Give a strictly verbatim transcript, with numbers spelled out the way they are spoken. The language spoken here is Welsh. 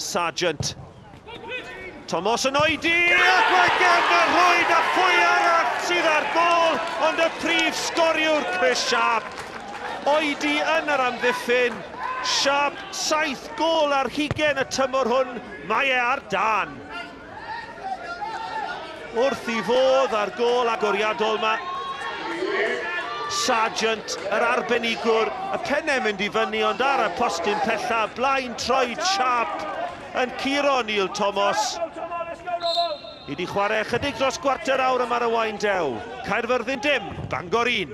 Sargent. Thomas yn oedi, ac mae gefn y rhwyd a phwy arall sydd ar gôl, ond y prif sgoriwr Chris Sharp. Oedi yn yr amddiffyn, Sharp saith gôl ar hugen y tymor hwn, mae e ar dân. Wrth i fodd ar gôl agoriadol yma. Sargent, yr arbenigwr, y pennau mynd i fyny, ond ar y postyn pella, blaen troed Sharp yn curo Neil Thomas. I di chwarae chydig dros gwarter awr yma ar y Waun Dew. Caerfyrddin dim, Bangor un.